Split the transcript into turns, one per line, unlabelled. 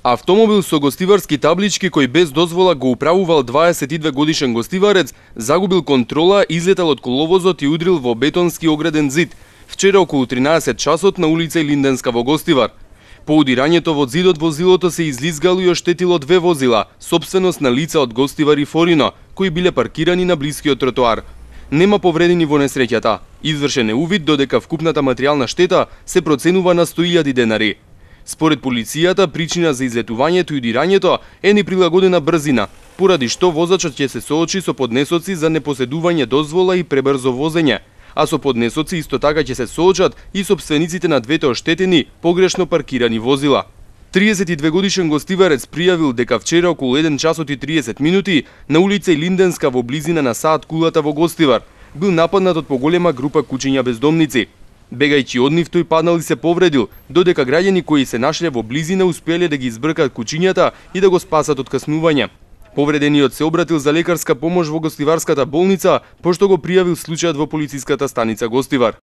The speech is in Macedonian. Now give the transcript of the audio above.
Автомобил со гостиварски таблички кој без дозвола го управувал 22 годишен гостиварец загубил контрола, излетал од коловозот и удрил во бетонски ограден зид вчера околу 13 часот на улица Линденска во Гостивар. По удирањето во зидот возилото се излизгало и оштетило 2 возила, сопственост на лица од Гостивар и Форино, кои биле паркирани на блискиот тротоар. Нема повредени во несреќата. Извршен е увид додека вкупната материјална штета се проценува на 100.000 денари. Според полицијата, причина за излетувањето и удирањето е неприлагодена брзина, поради што возачот ќе се соочи со поднесоци за непоседување дозвола и пребрзо возење, а со поднесоци исто така ќе се соочат и сопствениците на двете оштетени погрешно паркирани возила. 32 годишен гостиварец пријавил дека вчера околу 1 часот и 30 минути на улица Линденска во близина на Саат кулата во Гостивар бил нападнат од поголема група кучиња бездомници. Бегајќи од нив, тој паднал и се повредил, додека граѓани кои се нашле во близина успеале да ги избркат кучињата и да го спасат од каснување. Повредениот се обратил за лекарска помош во Гостиварската болница, пошто го пријавил случајот во полициската станица Гостивар.